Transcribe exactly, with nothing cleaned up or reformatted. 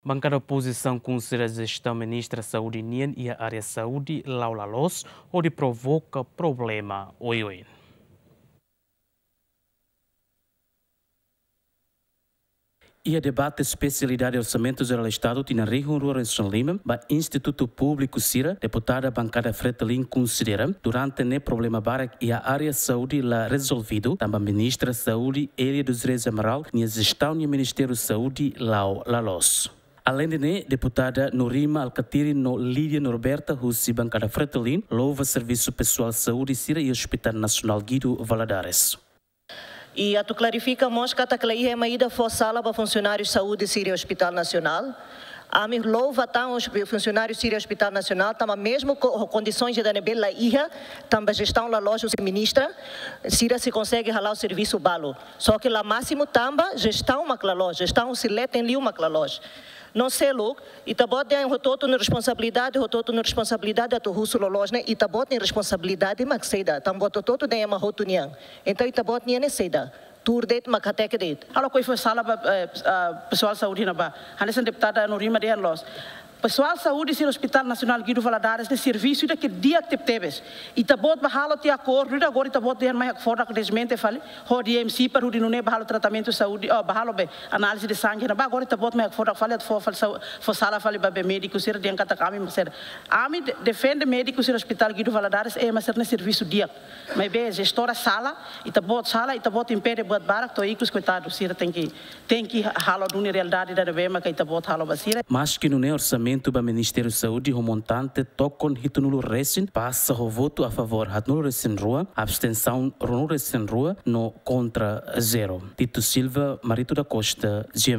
Bankada opozisaun konsidera jestaun ministra saúde nian iha área saúde la'o la loos hodi provoka problema oioin. Iha debate espesialidade Orsamentu Jerál Estadu tinan rihun rua resin lima ba institutu públiku sira, deputada bankada Fretilin konsidera durante ne'e problema barak iha área saúde la rezolvidu, tanba ministra saúde Elia dos Reis Amaral nia jestaun iha Ministériu Saúde la'o la loos. Aleinde ne'e, deputada Norima Alkatiri no Lídia Norberta husi bankada Fretilin louva servisu pesoál saúde sira iha Hospital Nasionál Guido Valadares. I atu klarifika mós katak la iha ema ida fó sala ba funsionáriu saúde sira iha Hospital Nasionál. Ami louva tan os funsionáriu sira iha Hospital Nasionál, tanba mezmu ho kondisoens ida ne'ebé la iha, tanba jestaun la loos husi ministra, sira sei konsege hala'o servisu balu. Só ke la másimu tanba jestaun mak la loos, jestaun sei leten liu mak la loos. No seluk, ita-boot dehan hotu-hotu nia responsabilidade, hotu-hotu nia responsabilidade atu husu loloos ne'e, ita-boot nia responsabilidade mak saida, tanba ita hotu-hotu dehan ema hotu nian. Entaun ita-boot nian ne'e saida, tuur de'it mak hateke de'it. Halo ko'i fó sala ba, eh, ah, pesoál saúde ne'ebá. Hanesan deputada Norima dehan loos. Pesoál saúde sira Hospital Nasionál Guido Valadares ne'e servisu ida ke di'ak tebetebes. Ita-boot bá halo tiha akordu ida, agora ita-boot dehan mai hakfodak desmente fali, hodi M C para hodi nune'e bá halo tratamentu saúde, oh, bá halo be análize de sangue ne'ebá, agora ita-boot mai hakfodak fali atu fó fali sau-, fó sala fali ba be médiku sira dehan katak ami mak sira. Ami de-, defende médiku sira Hospital Guido Valadares, eh, ema sira ne'e servisu di'ak. Maibé jestora sala, ita-boot sala, ita-boot impede buat barak, to'o ikus koitadu, sira tenke, tenke halo duni realidade ida ne'ebé mak ita-boot halo ba sira. Maski nune'e, orsamentu ba Ministériu Saúde ho montante tokon hitunulu resin pasa ho votu a favór haatnulu resin rua, abstensaun ruanulu resin rua no kontra zero. Tito Silva, Marito da Costa, G M N.